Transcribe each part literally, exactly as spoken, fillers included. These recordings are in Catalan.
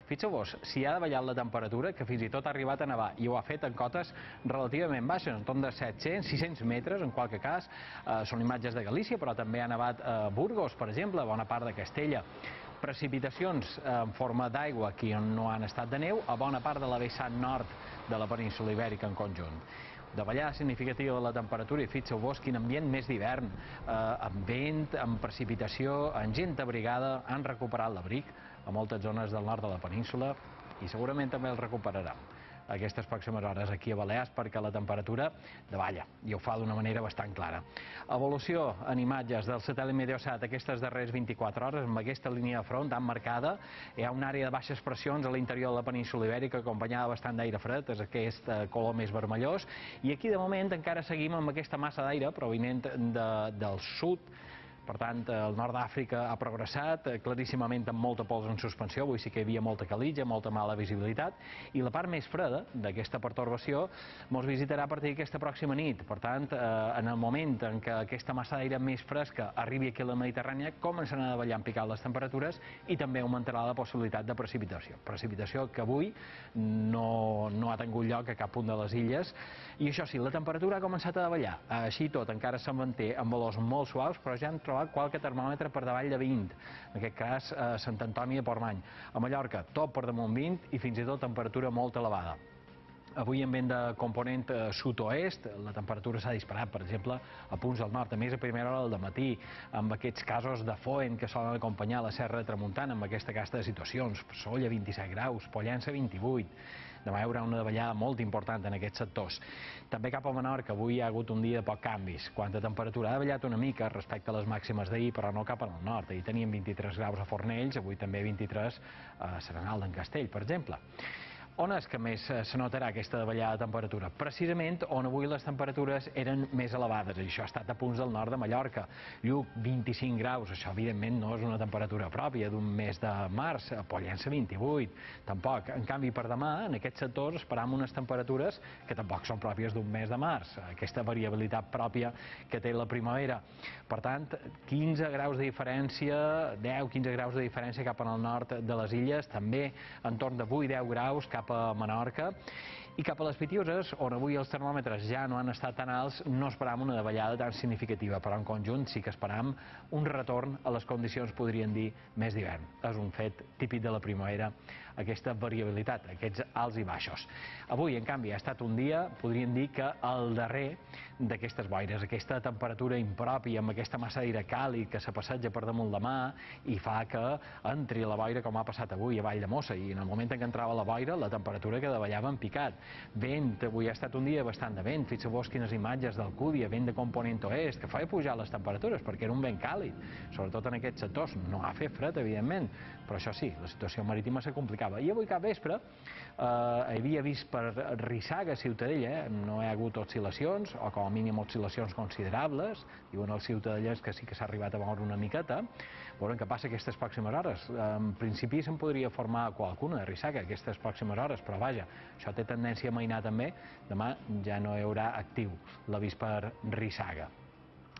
Fixeu-vos, si ha davallat la temperatura, que fins i tot ha arribat a nevar, i ho ha fet en cotes relativament baixes, en torn de set-cents, sis-cents metres, en qualque cas, eh, són imatges de Galícia, però també ha nevat a Burgos, per exemple, a bona part de Castella. Precipitacions en forma d'aigua aquí on no han estat de neu, a bona part de la vessant nord de la península Ibèrica en conjunt. Davallada significativa de la temperatura i fixeu-vos quin ambient més d'hivern, eh, amb vent, amb precipitació, amb gent abrigada, han recuperat l'abric a moltes zones del nord de la península i segurament també el recuperaran aquestes pròximes hores aquí a Balears perquè la temperatura davalla i ho fa d'una manera bastant clara. Evolució en imatges del satèl·lit Meteosat aquestes darreres vint-i-quatre hores amb aquesta línia de front tan marcada. Hi ha una àrea de baixes pressions a l'interior de la península Ibèrica acompanyada bastant d'aire fred, és aquest color més vermellós, i aquí de moment encara seguim amb aquesta massa d'aire provinent de, del sud. Per tant, el nord d'Àfrica ha progressat claríssimament amb molta pols en suspensió, avui sí que hi havia molta calitja, molta mala visibilitat, i la part més freda d'aquesta pertorbació ens visitarà a partir d'aquesta pròxima nit. Per tant, en el moment en què aquesta massa d'aire més fresca arribi aquí a la Mediterrània, començaran a davallar en picat les temperatures i també augmentarà la possibilitat de precipitació. Precipitació que avui no, no ha tingut lloc a cap punt de les illes. I això sí, la temperatura ha començat a davallar. Així tot, encara se'n manté amb valors molt suaus, però ja han trobat qualque termòmetre per davall de vint, en aquest cas a Sant Antoni de Portmany. A Mallorca, tot per damunt vint i fins i tot temperatura molt elevada. Avui en vent de component sud-oest, la temperatura s'ha disparat, per exemple, a punts del nord, a més a primera hora del matí, amb aquests casos de foen que solen acompanyar la Serra de Tramuntana, amb aquesta casta de situacions. Sóller, vint-i-set graus, Pollença, vint-i-vuit. Demà hi haurà una davallada molt important en aquests sectors. També cap a Menorca, avui hi ha hagut un dia de poc canvis. Quant a temperatura, ha davallat una mica respecte a les màximes d'ahir, però no cap al nord. Ahir teníem vint-i-tres graus a Fornells, avui també vint-i-tres a Serenal d'en Castell, per exemple. On és que més se notarà aquesta davallada de temperatura? Precisament on avui les temperatures eren més elevades, i això ha estat a punts del nord de Mallorca. Lluc, vint-i-cinc graus, això evidentment no és una temperatura pròpia d'un mes de març, a Pollença vint-i-vuit, tampoc. En canvi, per demà, en aquests sectors, esperam unes temperatures que tampoc són pròpies d'un mes de març, aquesta variabilitat pròpia que té la primavera. Per tant, quinze graus de diferència, deu quinze graus de diferència cap al nord de les illes, també entorn de vuit deu graus cap a Menorca, i cap a les Pitiüses, on avui els termòmetres ja no han estat tan alts, no esperam una davallada tan significativa, però en conjunt sí que esperam un retorn a les condicions, podríem dir, més d'hivern. És un fet típic de la primavera, aquesta variabilitat, aquests alts i baixos. Avui, en canvi, ha estat un dia, podríem dir que el darrer d'aquestes boires, aquesta temperatura impròpia, amb aquesta massa d'aire càlid que se passeja per damunt la mà i fa que entri la boira com ha passat avui a Vall de Mossa, i en el moment en què entrava la boira, la temperatura que davallava en picat. Vent, avui ha estat un dia bastant de vent, fixeu-vos quines imatges d'Alcúdia, vent de component oest, que feia pujar les temperatures perquè era un vent càlid, sobretot en aquests sectors. No ha fet fred, evidentment, però això sí, la situació marítima se complicava. I avui cap vespre eh, havia vist per Rissaga, Ciutadella, eh, no hi ha hagut oscil·lacions, o com a mínim oscil·lacions considerables, diuen els ciutadellers que sí que s'ha arribat a moure una miqueta. Veurem què passa aquestes pròximes hores. En principi se'n podria formar qualcuna de Rissaga aquestes pròximes hores, però vaja, això té tendència a mainar també. Demà ja no hi haurà actiu l'avís per Rissaga.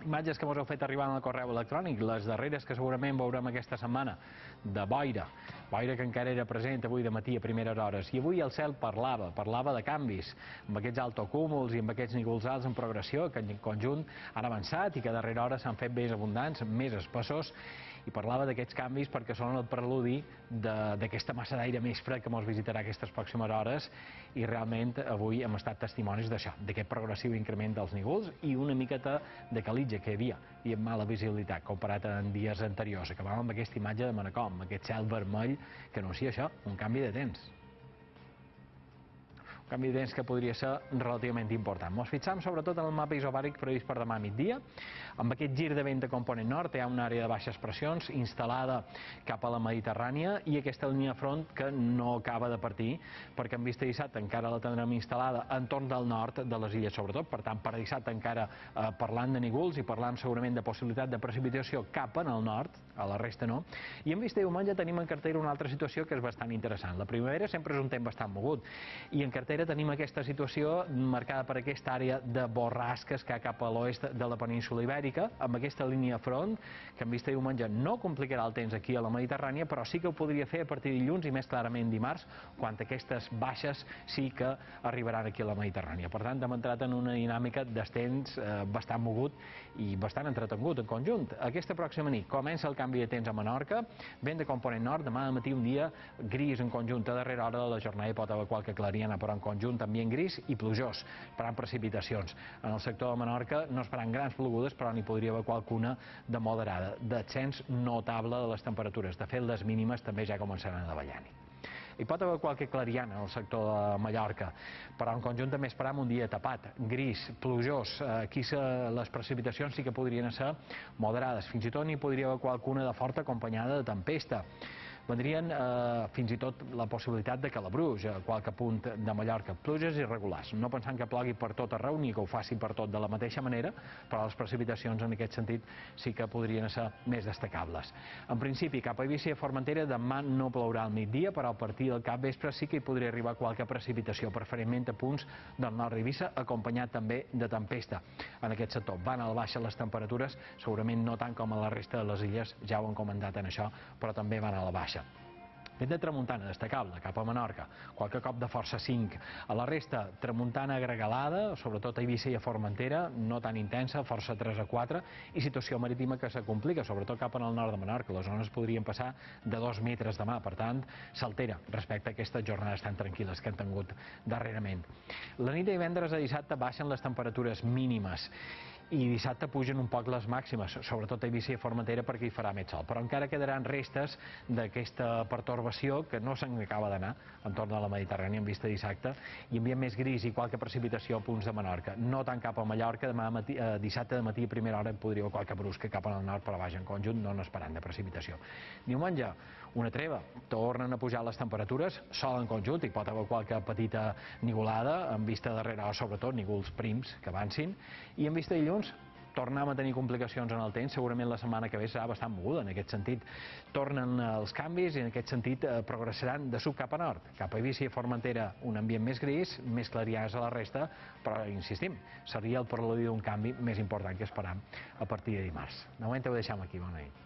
Imatges que mos heu fet arribar en el correu electrònic, les darreres que segurament veurem aquesta setmana, de boira, boira que encara era present avui de matí a primeres hores, i avui el cel parlava, parlava de canvis, amb aquests altocúmuls i amb aquests nígols alts en progressió, que en conjunt han avançat i que a darrera hora s'han fet més abundants, més espessos, i parlava d'aquests canvis perquè són el preludi d'aquesta massa d'aire més fred que ens visitarà aquestes pròximes hores, i realment avui hem estat testimonis d'això, d'aquest progressiu increment dels nígols i una miqueta de calitja que hi havia, i amb mala visibilitat comparat amb dies anteriors. Acabàvem amb aquesta imatge de Manacor, amb aquest cel vermell que anuncia això, un canvi de temps. Un canvi de temps que podria ser relativament important. Ens fixam sobretot en el mapa isobàric previst per demà a migdia. Amb aquest gir de vent de component nord hi ha una àrea de baixes pressions instal·lada cap a la Mediterrània i aquesta línia de front que no acaba de partir, perquè en vista de dissabte encara la tindrem instal·lada entorn del nord de les illes sobretot. Per tant, per dissabte encara eh, parlant de nígols i parlant segurament de possibilitat de precipitació cap en el nord, a la resta no. I en vista de diumenge tenim en cartera una altra situació que és bastant interessant. La primavera sempre és un temps bastant mogut, i en cartera formentera tenim aquesta situació marcada per aquesta àrea de borrasques que hi ha cap a l'oest de la península ibèrica, amb aquesta línia front, que en vista diumenge no complicarà el temps aquí a la Mediterrània, però sí que ho podria fer a partir de dilluns i més clarament dimarts, quan aquestes baixes sí que arribaran aquí a la Mediterrània. Per tant, hem entrat en una dinàmica d'estens eh, bastant mogut i bastant entretengut en conjunt. Aquesta pròxima nit comença el canvi de temps a Menorca, vent de component nord, demà de matí un dia gris en conjunt a darrera hora de la jornada, hi pot haver qualque clariana, però en conjunt ambient gris i plujós, esperant precipitacions. En el sector de Menorca no esperant grans plogudes, però n'hi podria haver qualcuna de moderada, d'ascens notable de les temperatures. De fet, les mínimes també ja començaran a davallar-hi. Hi pot haver qualque clariana al sector de Mallorca, però en conjunt també esperam un dia tapat, gris, plujós. Aquí les precipitacions sí que podrien ser moderades, fins i tot n'hi podria haver qualcuna de forta acompanyada de tempesta. Vendrien eh, fins i tot la possibilitat de calabruix a qualque punt de Mallorca, pluges irregulars, no pensant que plogui per tot arreu ni que ho faci per tot de la mateixa manera, però les precipitacions en aquest sentit sí que podrien ser més destacables. En principi, cap a Eivissa i Formentera demà no plourà al migdia, però a partir del capvespre sí que hi podria arribar qualque precipitació, preferentment a punts del nord d'Eivissa, acompanyat també de tempesta. En aquest sector van a la baixa les temperatures, segurament no tant com a la resta de les illes, ja ho han comentat en això, però també van a la baixa. Vent de tramuntana destacable cap a Menorca, qualque cop de força cinc. A la resta, tramuntana gregalada, sobretot a Eivissa i a Formentera, no tan intensa, força tres a quatre, i situació marítima que se complica, sobretot cap al nord de Menorca. Les zones podrien passar de dos metres demà, per tant, s'altera respecte a aquestes jornades tan tranquil·les que han tingut darrerament. La nit de divendres a dissabte baixen les temperatures mínimes i dissabte pugen un poc les màximes, sobretot a Eivissa i a Formentera perquè hi farà més sol, però encara quedaran restes d'aquesta pertorbació que no se'n acaba d'anar entorn de la Mediterrània en vista dissabte, i ambient més gris i qualque precipitació a punts de Menorca, no tant cap a Mallorca. Demà matí, eh, dissabte de matí a primera hora podria haver qualque brusca cap al nord, però vaja, en conjunt no n'esperant de precipitació. Diumenge, una treva, tornen a pujar les temperatures, sol en conjunt, hi pot haver qualque petita nigolada, en vista darrere, sobretot nígols prims que avancin, i en vista dilluns tornem a tenir complicacions en el temps. Segurament la setmana que ve serà bastant moguda en aquest sentit. Tornen els canvis i en aquest sentit eh, progressaran de sud cap a nord. Cap a Eivissa i Formentera un ambient més gris, més clarianes a la resta, però insistim, seria el preludi d'un canvi més important que esperam a partir de dimarts. De moment ho deixem aquí, bona nit.